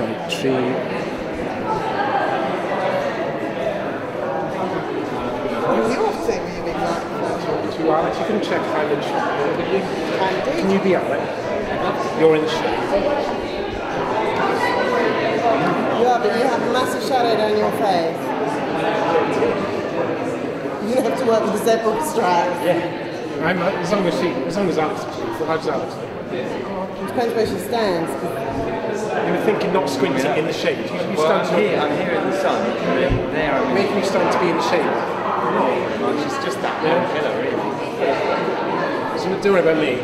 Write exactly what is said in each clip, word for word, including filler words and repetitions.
sorry, tri... To Alex, you can check if I'm in shot, can you? Can do. Can you be Alex? You're in the shade. You are, but you have a massive shadow down your face. You have to work with the zebra stripes. Yeah. I'm, uh, as long as she, as long as Alex, how's Alex? It depends where she stands. You were thinking not squinting in the shade. You, you well, stand I'm here, I'm here in the sun. There, I'm making you stand to be in the shade. Not much. It's just that yeah. one pillar, really. So don't worry about me.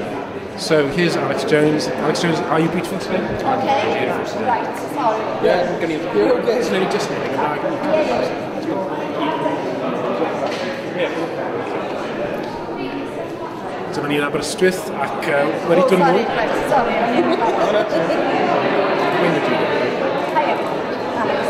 So here's Alex Jones. Alex Jones, are you beautiful today? Okay. Beautiful today. Right, sorry. Yeah, I'm going to. You're okay. It's only just knitting. Yeah. Dyma ni'n Aberystwyth ac uh, wedi oh, dod sorry, right, sorry. Hiya, Alex.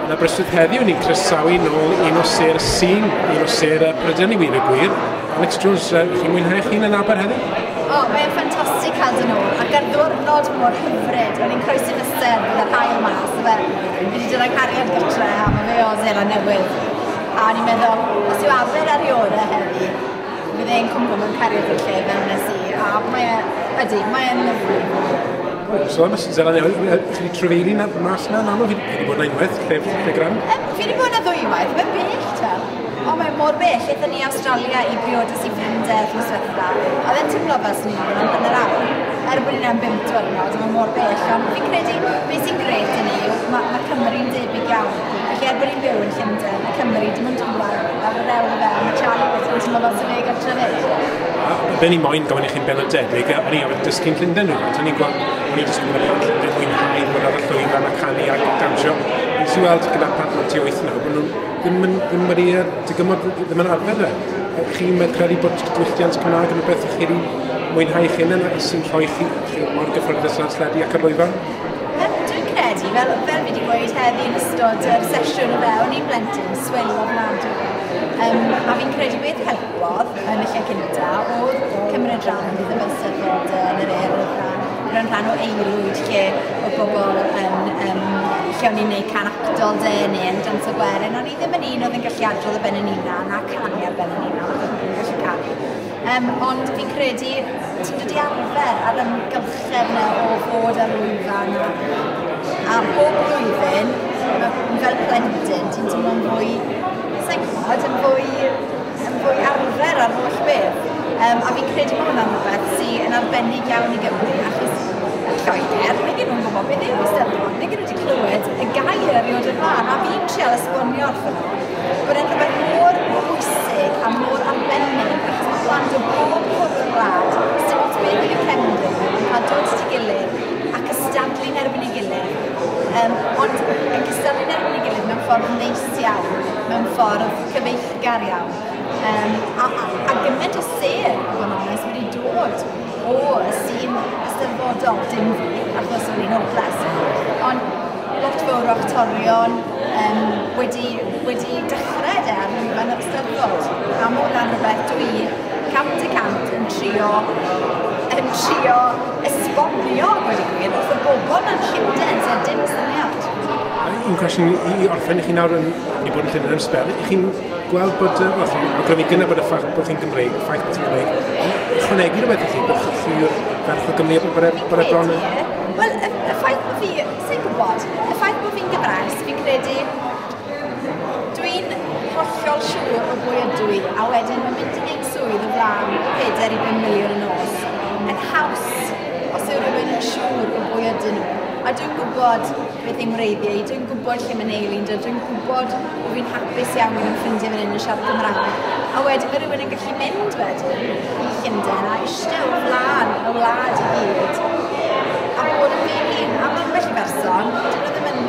Yn Aberystwyth heddiw, ni'n croesawu nôl un o sêr y sîn, un o sêr y Brydain i wir y gwir. Alex Jones, uh, chi'n mwynhau chi'n yn Aber heddiw? O, oh, mae'n ffantastig cael dod nôl, ac ar ddiwrnod mor hyfryd, o'n i'n croesi fysedd gyda'r haul mas, fe. Fi wedi dod â cariad gytre, a mae fe o Seland Newydd. A o'n i'n meddwl, os yw Aber ar ei orau heddi, fydd e'n cwmpo mewn cariad i'r lle fel nes i, a mae e, ydy, mae e'n lyfli. So am Seland Newydd, chi wedi trafeili na, mas na, yn aml? Fi wedi bod na unwaith, lle, lle gran? Um, fi wedi bod na ddwywaith, mae'n bell te. O, mae'n mor bell. Aethon ni Australia i briodas i ffrindiau wythnos diwetha. A fe'n teimlo fel swn i'n bod am hanner awr. Er bod ni'n am bump diwrnod, mae'n mor bell. Ond fi'n credu, beth sy'n grêt yn yw, mae, mae Cymru'n debyg iawn. Felly er bod ni'n byw yn Llundain, mae Cymru dim ond dŵr ar yr ewl fel, mae Charlie Whittle yn teimlo fel sy'n fe gartre fyd. Be ni moyn gofyn i chi'n benodedig, o'n i arfer dysgu'n Llundain rhywfaint, o'n i'n gweld, o'n i'n dysgu gyda plant Llundain mwynhau bod ar y llwyfan a canu a dawnsio. Nes i weld gyda plant mewn tua wyth naw, bod nhw ddim yn, ddim wedi dygymod, ddim yn arfer fe. Chi'n credu bod diwylliant Cymraeg yn rhywbeth chi wedi mwynhau eich hunain a sy'n rhoi chi, chi mor gyfforddus ar sledu ac ar lwyfan? Um, dwi'n credu, fel, fel fi wedi gweud heddi yn ystod yr sesiwn o fe, o'n i'n blentyn swil ofnadwy. Um, a fi'n credu beth helpodd yn y lle cynta oedd cymryd rhan yn pethau fel Steddfod yn yr Urdd a bod yn rhan o aelwyd lle oedd bobl yn, um, lle o'n i'n neud can actol de neu yn dawnsio gwerin. O'n i ddim yn un oedd yn gallu adrodd ar ben yn hunan a canu ar ben yn hunan, achos o'n i'n gallu canu. Um, ond fi'n credu ti'n dod i arfer ar ymgylchedd yna o fod ar lwyfan a, a bob blwyddyn, fel plentyn, ti'n teimlo'n fwy, sa'n gwybod, yn fwy, yn fwy arfer ar holl beth. Um, a fi'n credu bod hwnna'n rhywbeth sy'n yn arbennig iawn i Gymru, achos yn Lloegr, nag nhw'n gwybod beth yw Eisteddfod, nag nhw wedi clywed y gair erioed o'r blaen, a fi'n trial esbonio wrthyn nhw bod e'n rhywbeth mor bwysig a mor arbennig, achos mae plant o bob cwr o'r wlad, sy'n ots beth yw cefndir, yn cael dod at ei gilydd a cystadlu'n erbyn ei gilydd. Um, ond yn cystadlu'n erbyn ei gilydd mewn ffordd neis iawn, mewn ffordd cyfeillgar iawn. Um, a, a, a gymaint o sêr, i fod yn onest, wedi dod o y sîn eisteddfodol, dim fi, achos o'n i'n hopeless, ond lot fawr o actorion um, wedi, wedi dechrau de ar lwyfan yr Eisteddfod. A mae hwnna'n rhywbeth dwi cant y cant yn trio, yn trio esbonio, gweud y gwir, wrth y bobl yn Llundain sydd dim syniad. Un cwestiwn i orffen i chi nawr yn wedi bod yn Llundain am sbel, i chi'n gweld bod, wel, chi'n awgrymu gynna bod y ffaith bod chi'n Gymreig, y ffaith bod chi'n Gymreig, ychwanegu rhywbeth i chi, bod chi'n ferch o Gymru, bod e, bod e bron yn... Wel, y, y ffaith bod fi, sa'n gwybod, y ffaith bod fi'n Gymraes, fi'n credu, dwi'n hollol siŵr o bwy ydw i, a wedyn mae'n mynd i wneud swydd o flaen pedair i bum miliwn y nos, yn haws os yw rhywun yn siŵr o bwy ydyn nhw. A dwi'n gwybod beth yng ngwreiddiau i, dwi'n gwybod lle mae neilu'n dod, dwi'n gwybod bod fi'n hapus iawn gyda'n ffrindiau fan hyn yn siarad Cymraeg. A wedyn mae rhywun yn gallu mynd wedyn i Llundain a eistedd o flaen y wlad i gyd a bod yn fi'n hun. A mae ambell i berson, dyn nhw ddim yn,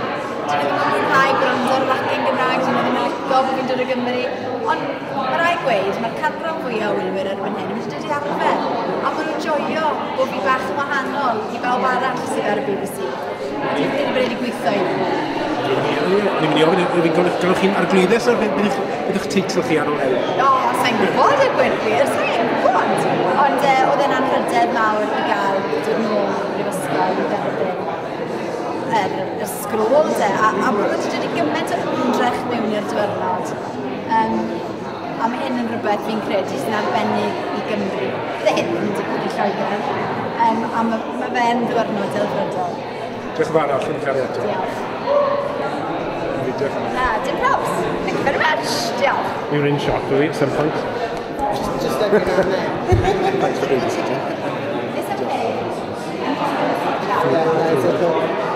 dyn nhw ddim yn mwynhau gwrando ar racen Gymraeg, dyn nhw ddim yn licio bod fi'n dod o Gymru. Ond mae rhaid gweud, mae'r canran fwyaf o wylwyr erbyn hyn yn mynd i dod i arfer. A maen nhw'n joio bod fi bach yn wahanol i bawb arall sydd ar y B B C. Dwi'n credu bod wedi gweithio i nhw. O'n i'n mynd i ofyn, galwch chi'n arglwyddes o'r beth yw'ch teitl chi ar ôl heddiw? O, sa'n gwybod y gwir gwir, sa'n gwybod. Ond uh, oedd e'n anrhydedd mawr i gael dod nôl i'r brifysgol i dderbyn sgrôl de, a, a bod wedi dod i gymaint o ymdrech mewn i'r diwrnod. Um, a mae hyn yn rhywbeth fi'n credu sy'n arbennig i Gymru. Bydde hyn ddim yn digwydd i Lloegr. Um, a mae, mae fe'n ddiwrnod delfrydol. Diolch yn fawr allan cael eto. Diolch. Diolch. Na, dim probs. Thank you very much. Diolch. We were in shot, were we, at some point? Just, just every now and then. Thanks for babysitting. It's okay. Yeah, no, it's okay.